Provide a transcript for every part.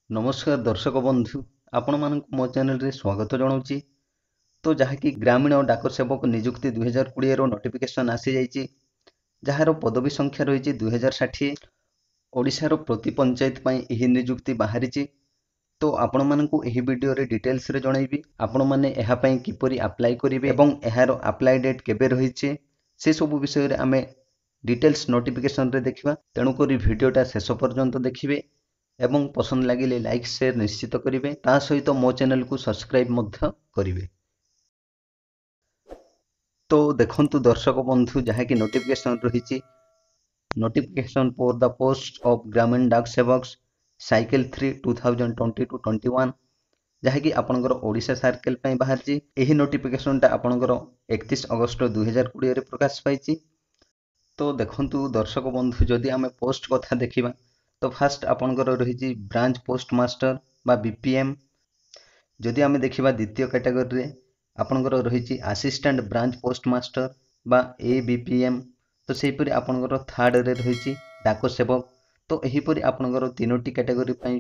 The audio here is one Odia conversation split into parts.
ନମସ୍କାର ଦର୍ଶକ ବନ୍ଧୁ, ଆପଣମାନଙ୍କୁ ମୋ ଚ୍ୟାନେଲରେ ସ୍ୱାଗତ ଜଣାଉଛି। ତ ଯାହାକି ଗ୍ରାମୀଣ ଡାକ ସେବକ ନିଯୁକ୍ତି 2020ର ନୋଟିଫିକେସନ୍ ଆସିଯାଇଛି, ଯାହାର ପଦବୀ ସଂଖ୍ୟା ରହିଛି 2060। ଓଡ଼ିଶାର ପ୍ରତି ପଞ୍ଚାୟତ ପାଇଁ ଏହି ନିଯୁକ୍ତି ବାହାରିଛି। ତ ଆପଣମାନଙ୍କୁ ଏହି ଭିଡ଼ିଓରେ ଡିଟେଲ୍ସରେ ଜଣାଇବି ଆପଣମାନେ ଏହା ପାଇଁ କିପରି ଆପ୍ଲାଏ କରିବେ ଏବଂ ଏହାର ଆପ୍ଲାଏ ଡେଟ୍ କେବେ ରହିଛି, ସେସବୁ ବିଷୟରେ ଆମେ ଡିଟେଲ୍ସ ନୋଟିଫିକେସନରେ ଦେଖିବା। ତେଣୁକରି ଭିଡ଼ିଓଟା ଶେଷ ପର୍ଯ୍ୟନ୍ତ ଦେଖିବେ ଏବଂ ପସନ୍ଦ ଲାଗିଲେ ଲାଇକ୍, ସେୟାର ନିଶ୍ଚିତ କରିବେ, ତା ସହିତ ମୋ ଚ୍ୟାନେଲକୁ ସବସ୍କ୍ରାଇବ୍ ମଧ୍ୟ କରିବେ। ତ ଦେଖନ୍ତୁ ଦର୍ଶକ ବନ୍ଧୁ, ଯାହାକି ନୋଟିଫିକେସନ୍ ରହିଛି, notification for the post of Gramin Dak Sevaks cycle 3 2020 to 21, ଯାହାକି ଆପଣଙ୍କର ଓଡ଼ିଶା ସାର୍କେଲ ପାଇଁ ବାହାରିଛି। ଏହି ନୋଟିଫିକେସନଟା ଆପଣଙ୍କର 31 ଅଗଷ୍ଟ 2020ରେ ପ୍ରକାଶ ପାଇଛି। ତ ଦେଖନ୍ତୁ ଦର୍ଶକ ବନ୍ଧୁ, ଯଦି ଆମେ ପୋଷ୍ଟ କଥା ଦେଖିବା, ତ ଫାଷ୍ଟ ଆପଣଙ୍କର ରହିଛି ବ୍ରାଞ୍ଚ ପୋଷ୍ଟ ମାଷ୍ଟର ବା ବିପିଏମ୍। ଯଦି ଆମେ ଦେଖିବା, ଦ୍ୱିତୀୟ କ୍ୟାଟାଗୋରୀରେ ଆପଣଙ୍କର ରହିଛି ଆସିଷ୍ଟାଣ୍ଟ ବ୍ରାଞ୍ଚ ପୋଷ୍ଟ ମାଷ୍ଟର ବା ଏବିପିଏମ୍। ତ ସେହିପରି ଆପଣଙ୍କର ଥାର୍ଡ଼ରେ ରହିଛି ଡାକ ସେବକ। ତ ଏହିପରି ଆପଣଙ୍କର ତିନୋଟି କ୍ୟାଟାଗୋରୀ ପାଇଁ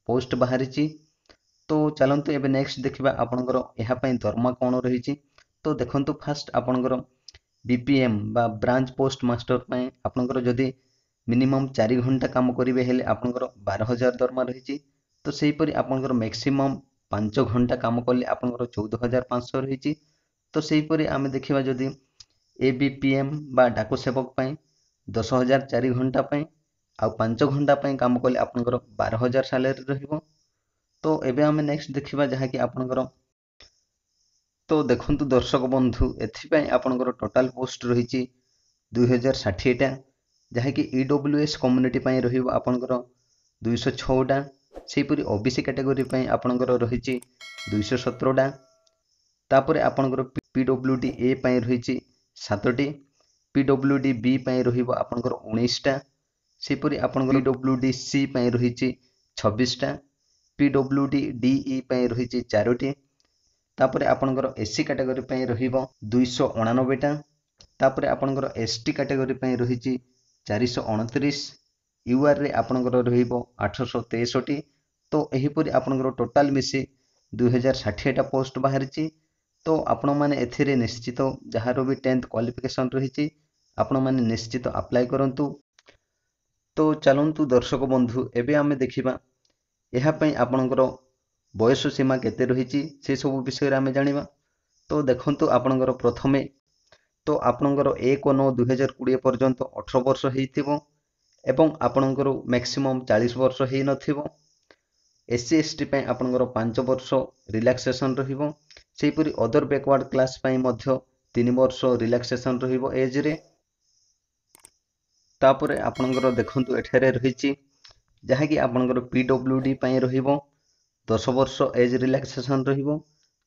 ପୋଷ୍ଟ ବାହାରିଛି। ତ ଚାଲନ୍ତୁ ଏବେ ନେକ୍ସଟ ଦେଖିବା ଆପଣଙ୍କର ଏହା ପାଇଁ ଦରମା କ'ଣ ରହିଛି। ତ ଦେଖନ୍ତୁ, ଫାଷ୍ଟ ଆପଣଙ୍କର ବିପିଏମ୍ ବା ବ୍ରାଞ୍ଚ ପୋଷ୍ଟ ମାଷ୍ଟର ପାଇଁ ଆପଣଙ୍କର ଯଦି ମିନିମମ୍ 4 ଘଣ୍ଟା କାମ କରିବେ ହେଲେ ଆପଣଙ୍କର 12,000 ଦରମା ରହିଛି। ତ ସେହିପରି ଆପଣଙ୍କର ମ୍ୟାକ୍ସିମମ୍ 5 ଘଣ୍ଟା କାମ କଲେ ଆପଣଙ୍କର 14,500 ରହିଛି। ତ ସେହିପରି ଆମେ ଦେଖିବା ଯଦି, ଏବିପିଏମ୍ ବା ଡାକ ସେବକ ପାଇଁ 10,000 4 ଘଣ୍ଟା ପାଇଁ, ଆଉ 5 ଘଣ୍ଟା ପାଇଁ କାମ କଲେ ଆପଣଙ୍କର 12,000 ସାଲାରୀ ରହିବ। ତ ଏବେ ଆମେ ନେକ୍ସଟ ଦେଖିବା ଯାହାକି ଆପଣଙ୍କର, ତ ଦେଖନ୍ତୁ ଦର୍ଶକ ବନ୍ଧୁ, ଏଥିପାଇଁ ଆପଣଙ୍କର ଟୋଟାଲ ପୋଷ୍ଟ ରହିଛି 2060ଟା, ଯାହାକି ଇଡବ୍ଲ୍ୟୁଏସ୍ କମ୍ୟୁନିଟି ପାଇଁ ରହିବ ଆପଣଙ୍କର 206ଟା। ସେହିପରି ଓବିସି କ୍ୟାଟାଗୋରୀ ପାଇଁ ଆପଣଙ୍କର ରହିଛି 217ଟା। ତାପରେ ଆପଣଙ୍କର ପିଡବ୍ଲ୍ୟୁଡି ଏ ପାଇଁ ରହିଛି ସାତଟି, ପିଡବ୍ଲ୍ୟୁଡି ବି ପାଇଁ ରହିବ ଆପଣଙ୍କର 19ଟା। ସେହିପରି ଆପଣଙ୍କର ପିଡବ୍ଲ୍ୟୁଡି ସି ପାଇଁ ରହିଛି 26ଟା, ପିଡବ୍ଲ୍ୟୁଡି ଡିଇ ପାଇଁ ରହିଛି ଚାରୋଟି। ତାପରେ ଆପଣଙ୍କର ଏସ୍ ସି କାଟାଗୋରୀ ପାଇଁ ରହିବ 289ଟା। ତାପରେ ଆପଣଙ୍କର ଏସ୍ ଟି କାଟାଗୋରୀ ପାଇଁ ରହିଛି 429, ୟୁଆର୍ରେ ଆପଣଙ୍କର ରହିବ 863। ତ ଏହିପରି ଆପଣଙ୍କର ଟୋଟାଲ୍ ମିଶି 2060ଟା ପୋଷ୍ଟ ବାହାରିଛି। ତ ଆପଣମାନେ ଏଥିରେ ନିଶ୍ଚିତ ଯାହାର ବି 10th qualification ରହିଛି, ଆପଣମାନେ ନିଶ୍ଚିତ ଆପ୍ଲାଏ କରନ୍ତୁ। ତ ଚାଲନ୍ତୁ ଦର୍ଶକ ବନ୍ଧୁ, ଏବେ ଆମେ ଦେଖିବା ଏହା ପାଇଁ ଆପଣଙ୍କର ବୟସ ସୀମା କେତେ ରହିଛି, ସେସବୁ ବିଷୟରେ ଆମେ ଜାଣିବା। ତ ଦେଖନ୍ତୁ, ଆପଣଙ୍କର ପ୍ରଥମେ ତ ଆପଣଙ୍କର 1/9/2020 ପର୍ଯ୍ୟନ୍ତ 18 ବର୍ଷ ହେଇଥିବ ଏବଂ ଆପଣଙ୍କର ମ୍ୟାକ୍ସିମମ୍ 40 ବର୍ଷ ହେଇନଥିବ। ଏସ୍ ସି, ଏସ୍ ଟି ପାଇଁ ଆପଣଙ୍କର 5 ବର୍ଷ ରିଲାକ୍ସେସନ୍ ରହିବ। ସେହିପରି ଅଦର ବ୍ୟାକୱାର୍ଡ଼ କ୍ଲାସ୍ ପାଇଁ ମଧ୍ୟ 3 ବର୍ଷ ରିଲାକ୍ସେସନ୍ ରହିବ ଏଜ୍ରେ। ତାପରେ ଆପଣଙ୍କର ଦେଖନ୍ତୁ, ଏଠାରେ ରହିଛି ଯାହାକି ଆପଣଙ୍କର ପିଡବ୍ଲ୍ୟୁଡି ପାଇଁ ରହିବ 10 ବର୍ଷ ଏଜ୍ ରିଲାକ୍ସେସନ୍ ରହିବ।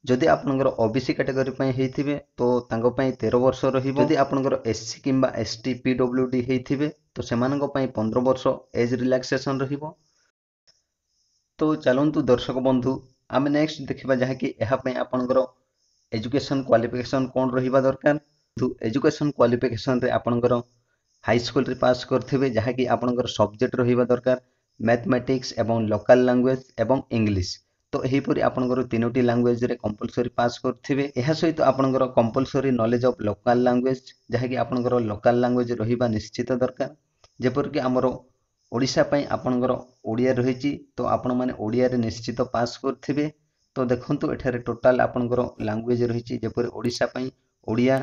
ଯଦି ଆପଣଙ୍କର ଓବିସି କାଟାଗୋରୀ ପାଇଁ ହେଇଥିବେ, ତ ତାଙ୍କ ପାଇଁ 13 ବର୍ଷ ରହିବ। ଯଦି ଆପଣଙ୍କର ଏସ୍ ସି କିମ୍ବା ଏସ୍ ଟି ପିଡବ୍ଲ୍ୟୁଡି ହେଇଥିବେ, ତ ସେମାନଙ୍କ ପାଇଁ 15 ବର୍ଷ ଏଜ୍ ରିଲାକ୍ସେସନ୍ ରହିବ। ତ ଚାଲନ୍ତୁ ଦର୍ଶକ ବନ୍ଧୁ, ଆମେ ନେକ୍ସଟ ଦେଖିବା ଯାହାକି ଏହା ପାଇଁ ଆପଣଙ୍କର ଏଜୁକେସନ୍ କ୍ୱାଲିଫିକେସନ୍ କ'ଣ ରହିବା ଦରକାର। ଏଜୁକେସନ୍ କ୍ୱାଲିଫିକେସନ୍ରେ ଆପଣଙ୍କର ହାଇସ୍କୁଲରେ ପାସ୍ କରିଥିବେ, ଯାହାକି ଆପଣଙ୍କର ସବଜେକ୍ଟ ରହିବା ଦରକାର ମ୍ୟାଥମେଟିକ୍ସ ଏବଂ ଲୋକାଲ୍ ଲାଙ୍ଗୁଏଜ୍ ଏବଂ ଇଂଲିଶ। ତ ଏହିପରି ଆପଣଙ୍କର ତିନୋଟି ଲାଙ୍ଗୁଏଜରେ କମ୍ପଲସରି ପାସ୍ କରିଥିବେ। ଏହା ସହିତ ଆପଣଙ୍କର compulsory knowledge of local language, ଯାହାକି ଆପଣଙ୍କର ଲୋକାଲ୍ ଲାଙ୍ଗୁଏଜ୍ ରହିବା ନିଶ୍ଚିତ ଦରକାର। ଯେପରିକି ଆମର ଓଡ଼ିଶା ପାଇଁ ଆପଣଙ୍କର ଓଡ଼ିଆ ରହିଛି, ତ ଆପଣମାନେ ଓଡ଼ିଆରେ ନିଶ୍ଚିତ ପାସ୍ କରିଥିବେ। ତ ଦେଖନ୍ତୁ, ଏଠାରେ ଟୋଟାଲ୍ ଆପଣଙ୍କର ଲାଙ୍ଗୁଏଜ୍ ରହିଛି, ଯେପରି ଓଡ଼ିଶା ପାଇଁ ଓଡ଼ିଆ,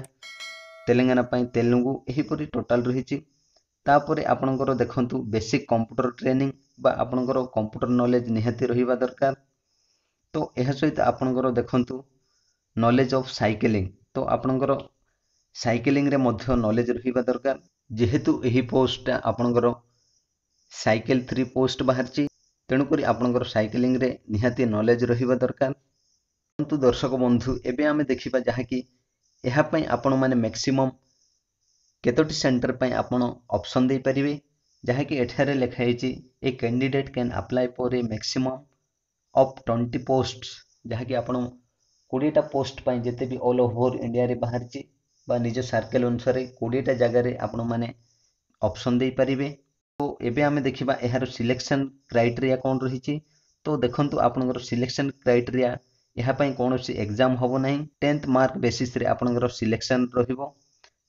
ତେଲେଙ୍ଗାନା ପାଇଁ ତେଲୁଗୁ, ଏହିପରି ଟୋଟାଲ୍ ରହିଛି। ତାପରେ ଆପଣଙ୍କର ଦେଖନ୍ତୁ, ବେସିକ୍ କମ୍ପ୍ୟୁଟର ଟ୍ରେନିଂ ବା ଆପଣଙ୍କର କମ୍ପ୍ୟୁଟର ନଲେଜ୍ ନିହାତି ରହିବା ଦରକାର। ତ ଏହା ସହିତ ଆପଣଙ୍କର ଦେଖନ୍ତୁ, ନଲେଜ୍ ଅଫ୍ ସାଇକେଲିଂ। ତ ଆପଣଙ୍କର ସାଇକେଲିଂରେ ମଧ୍ୟ ନଲେଜ୍ ରହିବା ଦରକାର। ଯେହେତୁ ଏହି ପୋଷ୍ଟଟା ଆପଣଙ୍କର ସାଇକେଲ 3 ପୋଷ୍ଟ ବାହାରିଛି, ତେଣୁକରି ଆପଣଙ୍କର ସାଇକେଲିଂରେ ନିହାତି ନଲେଜ୍ ରହିବା ଦରକାର। କିନ୍ତୁ ଦର୍ଶକ ବନ୍ଧୁ, ଏବେ ଆମେ ଦେଖିବା ଯାହାକି ଏହା ପାଇଁ ଆପଣମାନେ ମ୍ୟାକ୍ସିମମ୍ କେତୋଟି ସେଣ୍ଟର ପାଇଁ ଆପଣ ଅପସନ୍ ଦେଇପାରିବେ। ଯାହାକି ଏଠାରେ ଲେଖା ହେଇଛି, "A candidate can apply for a maximum of 20 post", ଯାହାକି ଆପଣ 20ଟା ପୋଷ୍ଟ ପାଇଁ ଯେତେ ବି ଅଲ୍ ଓଭର ଇଣ୍ଡିଆରେ ବାହାରିଛି ବା ନିଜ ସାର୍କେଲ ଅନୁସାରେ 20ଟା ଜାଗାରେ ଆପଣମାନେ ଅପସନ୍ ଦେଇପାରିବେ। ତ ଏବେ ଆମେ ଦେଖିବା ଏହାର ସିଲେକ୍ସନ୍ କ୍ରାଇଟେରିଆ କ'ଣ ରହିଛି। ତ ଦେଖନ୍ତୁ, ଆପଣଙ୍କର ସିଲେକ୍ସନ୍ କ୍ରାଇଟେରିଆ, ଏହା ପାଇଁ କୌଣସି ଏକ୍ଜାମ୍ ହେବ ନାହିଁ। 10th mark ବେସିସ୍ରେ ଆପଣଙ୍କର ସିଲେକ୍ସନ୍ ରହିବ।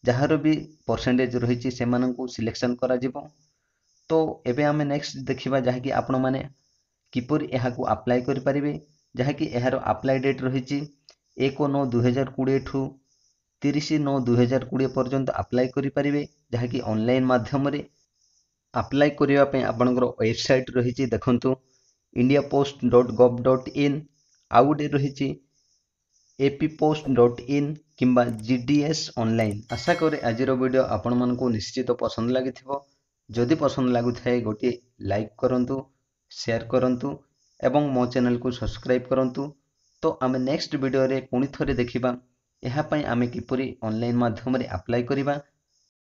ଯାହାର ବି ପରସେଣ୍ଟେଜ୍ ରହିଛି, ସେମାନଙ୍କୁ ସିଲେକ୍ସନ୍ କରାଯିବ। ତ ଏବେ ଆମେ ନେକ୍ସଟ ଦେଖିବା ଯାହାକି ଆପଣମାନେ କିପରି ଏହାକୁ ଆପ୍ଲାଏ କରିପାରିବେ। ଯାହାକି ଏହାର ଆପ୍ଲାଏ ଡେଟ୍ ରହିଛି 1/9/2020ଠୁ 30/9/2020 ପର୍ଯ୍ୟନ୍ତ ଆପ୍ଲାଏ କରିପାରିବେ, ଯାହାକି ଅନଲାଇନ୍ ମାଧ୍ୟମରେ। ଆପ୍ଲାଏ କରିବା ପାଇଁ ଆପଣଙ୍କର ୱେବସାଇଟ୍ ରହିଛି, ଦେଖନ୍ତୁ, India post dot gov dot in, ଆଉ ଗୋଟେ ରହିଛି A P post dot in କିମ୍ବା ଜି ଡି ଏସ୍ ଅନଲାଇନ୍। ଆଶା କରେ ଆଜିର ଭିଡ଼ିଓ ଆପଣମାନଙ୍କୁ ନିଶ୍ଚିତ ପସନ୍ଦ ଲାଗିଥିବ। ଯଦି ପସନ୍ଦ ଲାଗୁଥାଏ, ଗୋଟିଏ ଲାଇକ୍ କରନ୍ତୁ, ସେୟାର କରନ୍ତୁ ଏବଂ ମୋ ଚ୍ୟାନେଲକୁ ସବସ୍କ୍ରାଇବ୍ କରନ୍ତୁ। ତ ଆମେ ନେକ୍ସଟ ଭିଡ଼ିଓରେ ପୁଣି ଥରେ ଦେଖିବା ଏହା ପାଇଁ ଆମେ କିପରି ଅନଲାଇନ୍ ମାଧ୍ୟମରେ ଆପ୍ଲାଏ କରିବା।